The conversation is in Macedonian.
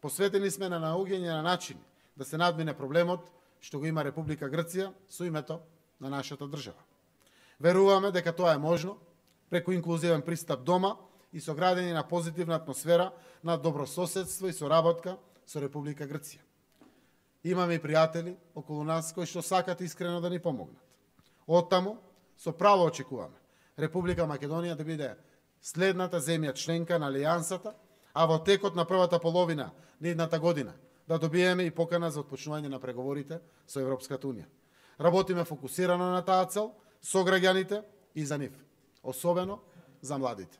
Посветени сме на наоѓање на начини да се надмине проблемот што го има Република Грција со името на нашата држава. Веруваме дека тоа е можно преку инклузивен пристап дома и со градење на позитивна атмосфера на добрососедство и соработка со Република Грција. Имаме и пријатели околу нас кои што сакат искрено да ни помогнат. Оттаму, со право очекуваме Република Македонија да биде следната земја членка на Алијансата, а во текот на првата половина на идната година да добиеме и покана за отпочнување на преговорите со Европската Унија. Работиме фокусирано на таа цел, со граѓаните и за нив, особено за младите.